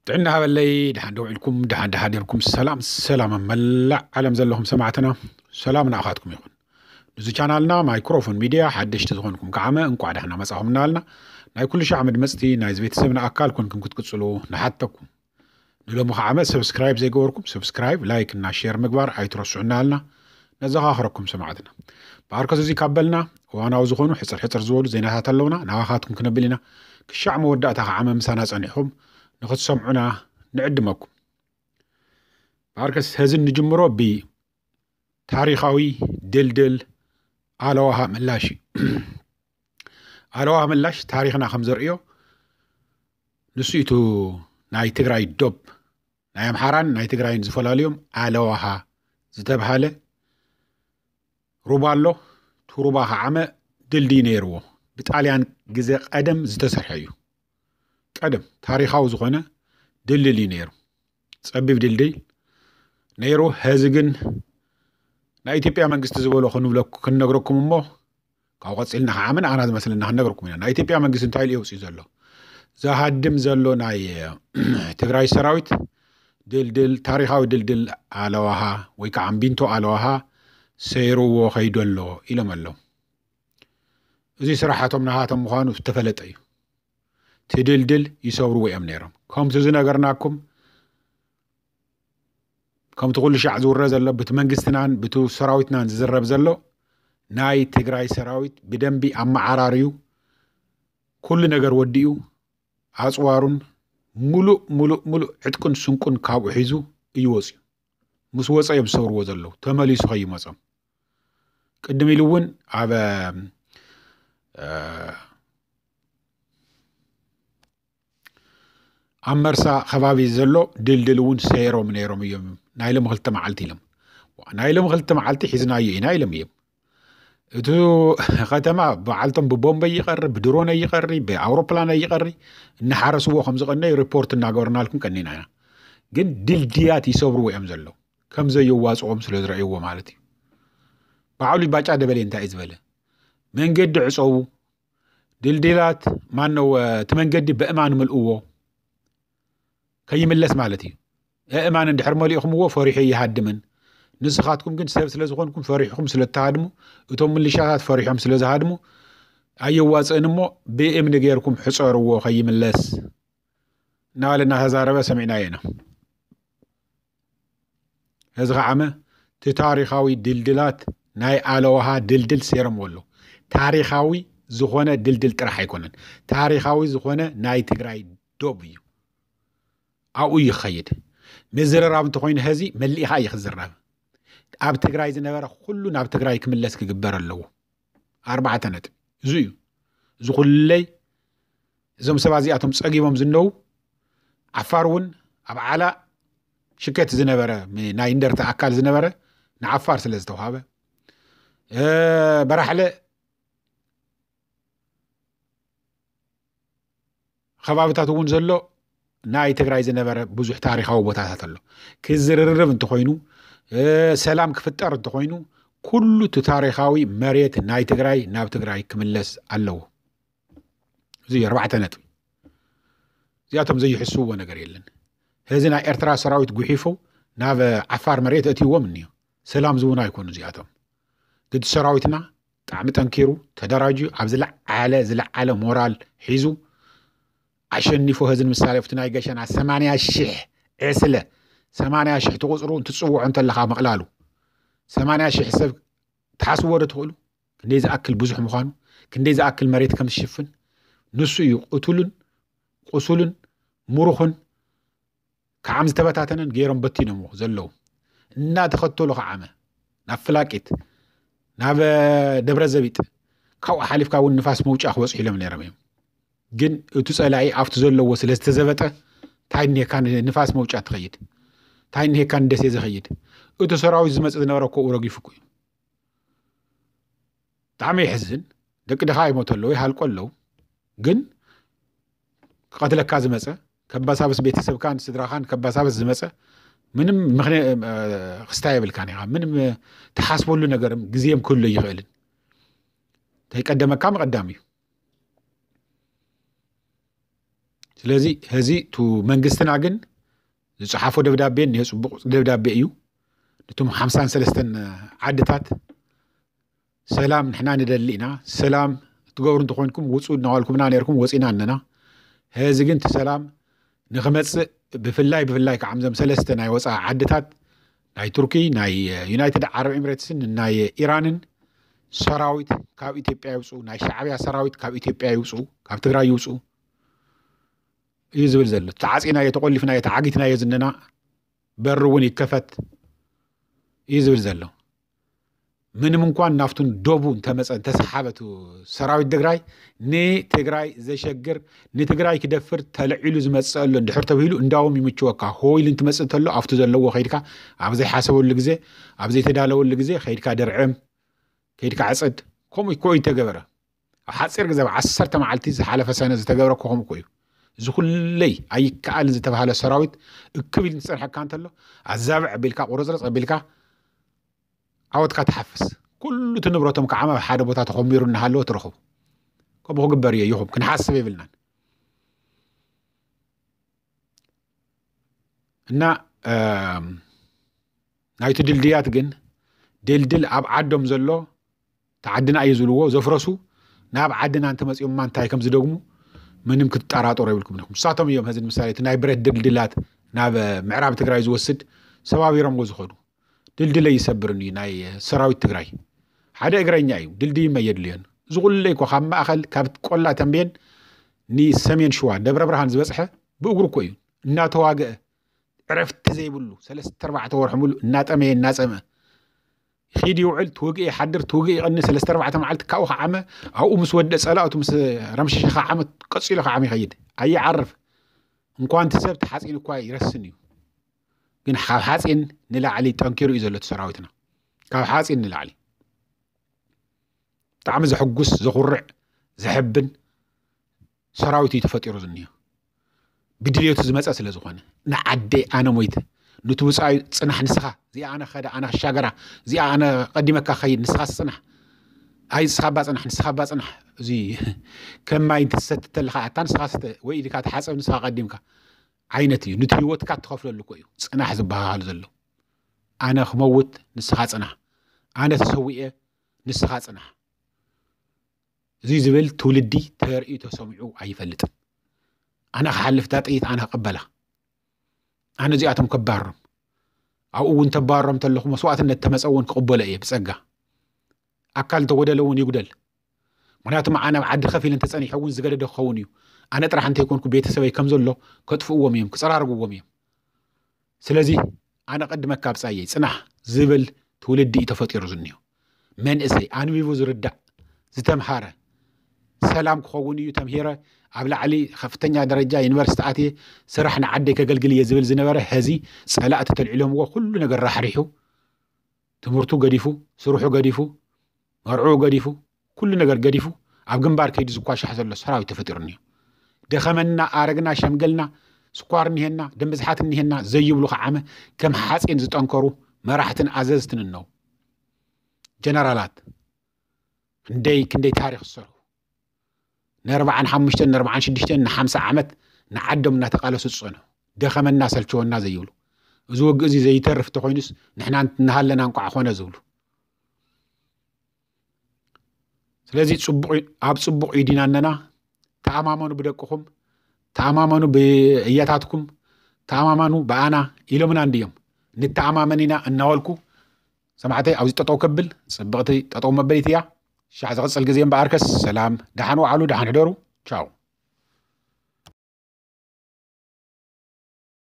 ጥዕና ሃበለይ፣ ደሓን ደው ኢልኩም፣ ደሓን ደሓዲርኩም፣ ሰላም ሰላም ኣብ መላእ ዓለም ዘለኹም ሰማዕትና፣ ሰላም ንኣኻትኩም ይኹን። ንዚ ቻናልና ማይክሮፎን ሚድያ ሓደሽቲ ዝኾንኩም ከዓመ እንቋዕ ደሕና መጻኹም እናበልና፣ ናይ ኩሉ ሻዕ መድመጽቲ ናይዚ ቤተሰብና ኣካል ኮንኩም ክትቅጽሉ ንሓተኩም። ንሎሚ ከዓመ ሰብስክራይብ ዘይገበርኩም ሰብስክራይብ፣ ላይክ እና ሼር ምግባር ኣይትረስዑ እናበልና ነዘኻኽረኩም ሰማዕትና። ብኣርከስ እዚ ካብ በልና እዋናዊ ዝኾኑ ሕጽር ሕጽር ዝበሉ ዜናታት ኣለውና፣ ናባኻትኩም ክነብል ኢና። ክሻዕ መወዳእታ ከዓመ ምሳና ጸኒሕኩም ንኽትሰምዑና ንዕድመኩም። ብኣርከስ ሀዚ ንጅምሮ ብታሪኻዊ ድልድል ኣለዋሃ ምላሽ እዩ። ኣለዋሃ ምላሽ ታሪኽና ከም ዘርእዮ ንሱ እዩ። እቲ ናይ ትግራይ ዶብ ናይ ኣምሓራን ናይ ትግራይን ዝፈላልዮም ኣለዋሃ ዝተብሃለ ሩባ ኣሎ። እቲ ሩባ ከዓመ ድልድይ ነይርዎ። ብጣልያን ግዜ ቀደም ዝተሰርሐ እዩ። ቀደም ታሪኻዊ ዝኾነ ድልድል እዩ ነይሩ። ጸቢብ ድልድል ነይሩ። ሀዚ ግን ናይ ኢትዮጵያ መንግስቲ ዝበሎ ክንብለኩ-፣ ክንነግረኩም እሞ ካብኡ ቀጺልና ከዓመ ንኣና ዝመስለና ክንነግረኩም ኢና። ናይ ኢትዮጵያ መንግስቲ እንታይ ኢሉ የውጽእ ዘሎ? ዝሃድም ዘሎ ናይ ትግራይ ሰራዊት ድልድል፣ ታሪኻዊ ድልድል ኣለዋሃ ወይ ከዓ እምቢንቶ ኣለዋሃ ሰይርዎ ከይዱ ኣሎ ኢሎም ኣለዉ። እዚ ስራሓቶም ናሃቶም ምዃኑ ዝተፈለጠ እዩ። እቲ ድልድል ይሰብርዎ እዮም ነይሮም። ከምቲ ዝነገርናኩም፣ ከምቲ ኩሉ ሻዕ ዝውረ ዘሎ፣ ብቲ መንግስትናን ብቲ ሰራዊትናን ዝዝረብ ዘሎ፣ ናይ ትግራይ ሰራዊት ብደንቢ ኣመዓራርዩ፣ ኩሉ ነገር ወዲኡ፣ ኣጽዋሩን ሙሉእ፣ ሙሉእ፣ ሙሉእ ዕጥቁን ስንቁን ካብኡ ሒዙ እዩ ወፂኡ። ምስ ወፀ እዮም ዝሰብርዎ ዘለዉ። ተመሊሱ ከይመፆም። ቅድም ኢሉ እውን ኣብ፣ እ፣ ኣብ መርሳ ከባቢ ዘሎ ድልድል እውን ሰይሮም ነይሮም እዮም። ናይ ሎሚ ክልተ መዓልቲ ኢሎም። ናይ ሎሚ ክልተ መዓልቲ ሒዝናዮ ኢና ኢሎም እዮም። እቲ ከተማ በዓልቶም ብቦምበ ይቐሪ፣ ብድሮን ይቐሪ፣ ብኣውሮፕላን ይቐሪ፣ እናሓረስዎ ከም ዝቐነዩ ሪፖርት እናገበርናልኩም ቀኒና ኢና። ግን ድልድያት ይሰብርዎ እዮም ዘለዉ። ከም ዘየዋፅኦም ስለ ዝረእይዎ ማለት እዩ። በዓሉ ባጫ ደበሌ እንታይ እዩ ዝበለ? መንገዲ ዕፀዉ፣ ድልድላት፣ ማነው፣ እቲ መንገዲ በእማን ምልእዎ፣ ከይምለስ ማለት እዩ። ኣእማን እንድሕር መሊእኹምዎ ፈሪሑ ይሃድምን። ንስኻትኩም ግን ሰብ ስለ ዝኾንኩም ፈሪሕኹም ስለ እትሃድሙ፣ እቶም ምልሻታት ፈሪሖም ስለ ዝሃድሙ፣ ኣየዋፅእን እሞ ብእምኒ ጌርኩም ሕፀርዎ ከይምለስ እናበለ እናተዛረበ ሰሚዕናዮ ኢና። እዚ ከዓመ እቲ ታሪኻዊ ድልድላት ናይ ኣለዋሃ ድልድል ሴሮምዎ ኣለዉ። ታሪኻዊ ዝኾነ ድልድል ጥራሕ ኣይኮነን። ታሪኻዊ ዝኾነ ናይ ትግራይ ዶብ እዩ። ኣብኡ ይኸይድ። ምዝርራብ እንተኾይኑ ሀዚ መሊእኻ እዩ ክዝረብ። ኣብ ትግራይ ዝነበረ ኩሉ ናብ ትግራይ ክምለስ ክግበር ኣለዎ። ኣርባዕተ ነጥቢ። እዚ እዩ። እዚ ኩለይ እዞም ሰባት እዚኣቶም ጸጊቦም ዝነዉ ዓፋር እውን ኣብ ዓላ ሽከት ዝነበረ ም-፣ ናይ እንደርታ ኣካል ዝነበረ ንዓፋር ስለ ዝተዋሃበ፣ እ፣ በራሕለ ከባብታት እውን ዘሎ ናይ ትግራይ ዝነበረ ብዙሕ ታሪኻዊ ቦታታት ኣሎ። ክዝርርብ እንተኾይኑ፣ እ፣ ሰላም ክፍጠር እንተኾይኑ፣ ኩሉ እቲ ታሪኻዊ መሬት ናይ ትግራይ ናብ ትግራይ ክምለስ ኣለዎ። እዚ ኣርባዕተ ነጥቢ። እዚኣቶም ዘይሕስውዎ ነገር የለን። ሕዚ ናይ ኤርትራ ሰራዊት ጉሒፉ ናብ ዓፋር መሬት እትይዎም እኒዮ። ሰላም ዝውን ኣይኮኑ እዚኣቶም። ግዲ ሰራዊትና ብጣዕሚ ጠንኪሩ፣ ተደራጅዩ፣ ኣብ ዝለዓለ፣ ዝለዓለ ሞራል ሒዙ፣ ኣሸኒፎ ሕዚ ንምሳሌ ኣብቲ ናይ ገሸና ሰማንያ ሽሕ ዕስለ፣ ሰማንያ ሽሕ ትቁፅሩ እንትትፅውዖ እንተለኻ ምቕላሉ፣ ሰማንያ ሽሕ ሰብ ትሓስብዎ ዶ ትኽእሉ? ክንደይ ዝኣክል ብዙሕ ምዃኑ፣ ክንደይ ዝኣክል መሬት ከም ዝሽፍን፣ ንሱ እዩ ቅቱልን፣ ቁሱልን፣ ምሩኽን፣ ከዓም ዝተበታተነን ገይሮም በቲኖምዎ ዘለዉ። እናተኸተሉ ከዓመ፣ ናብ ፍላቂት፣ ናብ ደብረ ዘቢጥ፣ ካብኡ ሓሊፍካ እውን ንፋስ መውጫ ክበፅሑ ኢሎም ነይሮም እዮም። ግን እቲ ፀላኢ ኣብቲ ዘለዎ ስለ ዝተዘበጠ፣ እንታይ እኒሄካ ንፋስ መውጫ ትኸይድ? እንታይ እኒሄካ ንደሴ ዝኸይድ? እቲ ሰራዊት ዝመፅእ ዝነበረ ኮኡ ረጊፉ እኮ እዩ። ብጣዕሚ የሕዝን። ደቂ ድኻ ይሞቱ ኣለዉ፣ ይሃልቁ ኣለዉ። ግን ክቐትለካ ዝመፀ፣ ከባሳብስ ቤተሰብካን ስድራኻን ከባሳብስ ዝመፀ፣ ምንም ምኽንያ-፣ እ፣ ክስታይ የብልካን ኢኻ። ምንም፣ እ፣ ትሓስበሉ ነገርም ግዜም ክህሉ ይኽእልን። ተይቀደመካ ምቐዳም እዩ። ስለዚ ሕዚ እቲ መንግስትና ግን ዝጸሓፎ ደብዳቤ እኒሀ፣ ጽቡቕ ደብዳቤ እዩ። ነቶም ሓምሳን ሰለስተን ዓድታት ሰላም ንሕና ንደሊ ኢና፣ ሰላም እትገብሩ እንተኾይንኩም ውጹ እናበልኩምና ነርኩም፣ ወጺና ኣለና። ሕዚ ግን እቲ ሰላም ንኽመጽእ ብፍላይ ብፍላይ ከዓ እዞም ሰለስተ ናይ ወፃኢ ዓድታት ናይ ቱርኪ፣ ናይ ዩናይትድ ዓረብ ኤምሬትስን ናይ ኢራንን ሰራዊት ካብ ኢትዮጵያ ይውፁ፣ ናይ ሻዕብያ ሰራዊት ካብ ኢትዮጵያ ይውፁ፣ ካብ ትግራይ ይውፁ እዩ ዝብል ዘሎ። ተዓፂናዮ፣ ተቆሊፍናዮ፣ ተዓጊትናዮ ዝነና በሪ እውን ይከፈት እዩ ዝብል ዘሎ። ምንም እንኳን ናፍቱን ዶቡ እንተመፀ እንተሰሓበቱ ሰራዊት ትግራይ ንትግራይ ዘሸግር ንትግራይ ክደፍር ተለዒሉ ዝመፅእ ኣሎ እንድሕር ተብሂሉ እንዳውም ይምችወካ ሆይል እንትመፅእ እንተሎ ኣብቲ ዘለዎ ከይድካ ኣብ ዘይሓሰበሉ ግዜ ኣብ ዘይተዳለወሉ ግዜ ከይድካ ደርዕም ከይድካ ዕፀድ ከምኡ እኮ እዩ ተገበረ። ኣብ ሓፂር ግዜ ኣብ ዓሰርተ መዓልቲ ዝሓለፈ ሰነ ዝተገብረ እኮ ከምኡ እኮ እዩ። እዚ ኩለይ ኣይከኣልን ዝተባሃለ ሰራዊት እክብ ኢሉ ዝፀንሐካ እንተሎ ኣዛብዕ ኣቢልካ ቁርፅርፅ ኣቢልካ ዓወትካ ትሓፍስ። ኩሉ እቲ ንብረቶም ከዓ ኣብ ሓደ ቦታ ተኾሚሩ እናሃለወ ትረኽቡ። ከምኡ ክግበር እዮ ይኹም ክንሓስብ የብልናን። እና ናይቲ ድልድያት ግን ድልድል ኣብ ዓዶም ዘሎ ተዓድና እዩ ዝብልዎ ዘፍረሱ ናብ ዓድና እንተመፂኦምማ እንታይ ከም ዝደግሙ ምንም ክትጠራጠሩ የብልኩም ኢኹም። ንሳቶም እዮም ሕዚ ንምሳሌ እቲ ናይ ብረት ድልድላት ናብ ምዕራብ ትግራይ ዝወስድ ሰባቢሮምዎ ዝኸዱ። ድልድል ኣይሰብርን እዩ ናይ ሰራዊት ትግራይ። ሓደ እግረኛ እዩ፣ ድልድይ እየድልዮን። እዚ ኩሉ እኮ ካብ ማእኸል ካብ ቆላ ተንቤን ንሰሜን ሽዋ ደብረ ብርሃን ዝበፅሐ ብእግሩ እኮ እዩ እናተዋግአ ዕረፍቲ ዘይብሉ ሰለስተ ኣርባዕተ ወርሒ ሙሉእ እናጠመየ እናፀመ ይኸይድ ይውዕል፣ ትውግእ ይሓድር፣ ትውግእ ይቐኒ፣ ሰለስተ ኣርባዕተ መዓልቲ ካብኡ ከዓመ ኣብኡ ምስ ወደ ፀላእቱ ምስ ረምሸሸ ከዓመ ቀፂሉ ከዓመ ይኸይድ ኣይዓርፍ። እንኳን እቲ ሰብ ተሓፂን እኳ ይረስን እዩ። ግን ካብ ሓፂን ንላዕሊ ጠንኪሩ እዩ ዘሎ እቲ ሰራዊትና። ካብ ሓፂን ንላዕሊ ብጣዕሚ ዘሕጉስ ዘኹርዕ ዘሕብን ሰራዊት እዩ ተፈጢሩ ዝኒሆ። ብድልየቱ ዝመፀ ስለ ዝኾነ ንዓደይ ኣነ ሞይተ ንቲ ውፃኢ ፅናሕ ንስኻ እዚኣ ኣነ ኸደ ኣነ ክሻገራ እዚኣ ኣነ ቀዲመካ ኸይድ ንስኻ ፅናሕ ኣይ ንስኻ ባ ፅናሕ ንስኻ ባ ፅናሕ እዚ ከም ማይ እንትትሰቲ ተለኻ ኣታ ንስኻ ስተ ወይ ኢድካ ተሓፀብ ንስኻ ቀዲምካ ዓይነት እዩ። ንቲ ህይወትካ ትኸፍለሉ እኮ እዩ ፅናሕ ዝበሃል ዘሎ። ኣነ ክመውት ንስኻ ፅናሕ፣ ኣነ ተሰዊኤ ንስኻ ፅናሕ። እዚ ዝብል ትውልዲ ተርእዩ ተሰሚዑ ኣይፈልጥን። ኣነ ክሓልፍ እታ ጥይት ኣነ ክቕበላ፣ ኣነ እዚኣቶም ከባሮም ኣብኡ እውን ተባሮም ተለኹ መስዋእትነት ተመፀ እውን ክቕበሎ እየ ብፀጋ። ኣካል እንተጎደለ እውን ይጉደል። ምክንያቱ መዓ ናብ ዓዲ ከፊል እንተፀኒሐ እውን ዝገደደ ክኸውን እዩ። ኣነ ጥራሕ እንተይኮንኩ ቤተሰበይ ከም ዘሎ ከጥፍእዎም እዮም ክፀራርግዎም እዮም። ስለዚ ኣነ ቀድመካ ብፃየይ ፅናሕ ዝብል ትውልዲ እዩ ተፈጢሩ ዝኒሆ። መንእሰይ ኣንቢቡ ዝርዳእ ዝተምሃረ ሰላም ክኸውን እዩ ተምሂረ ኣብ ላዕሊ ከፍተኛ ደረጃ ዩኒቨርሲቲ ኣትየ ስራሕ ንዓደይ ከገልግል እየ ዝብል ዝነበረ ሀዚ ፀላእቲ ተልዒሎምዎ ኩሉ ነገር ራሕሪሑ ትምህርቱ ገዲፉ ስርሑ ገዲፉ መርዕኡ ገዲፉ ኩሉ ነገር ገዲፉ ኣብ ግንባር ከይዱ ዝኳሻሕ ዘሎ ሰራዊት ተፈጢሩ እኒኦ። ደኸመና ኣረግና ሸምገልና ስኳር እኒሄና ደም ብዝሓት እኒሄና ዘይብሉ ከዓመ ከም ሓፂን ዝጠንከሩ መራሕትን ኣዘዝትን እነው ጀነራላት ክንደይ ክንደይ ታሪክ ዝሰርሑ ንኣርባዓን ሓሙሽተን ንኣርባዓን ሽዱሽተን ንሓምሳ ዓመት ንዓዶም እናተቃለሱ ዝፀንሑ ደኸመና ሰልቸወና ዘይብሉ እዚ ውግእ እዚ ዘይተርፍ እንተኮይኑስ ንሕና እናሃለና እንቋዕ ኮነ ዝብሉ ስለዚ ኣብ ፅቡቕ እዩ ዲና ኣለና። ተኣማመኑ ብደቅኹም፣ ተኣማመኑ ብእያታትኩም፣ ተኣማመኑ ብኣና ኢሎምና እንድዮም። ንተኣማመን ኢና እናበልኩ ሰማዕተይ ኣብዚ ጠጠው ከብል ፅብቕቲ ጠጠው መበሊት እያ። ሻዕ ዝቕፅል ግዜ እምበኣርከስ ሰላም፣ ደሓን ወዓሉ፣ ደሓን ሕደሩ። ቻው።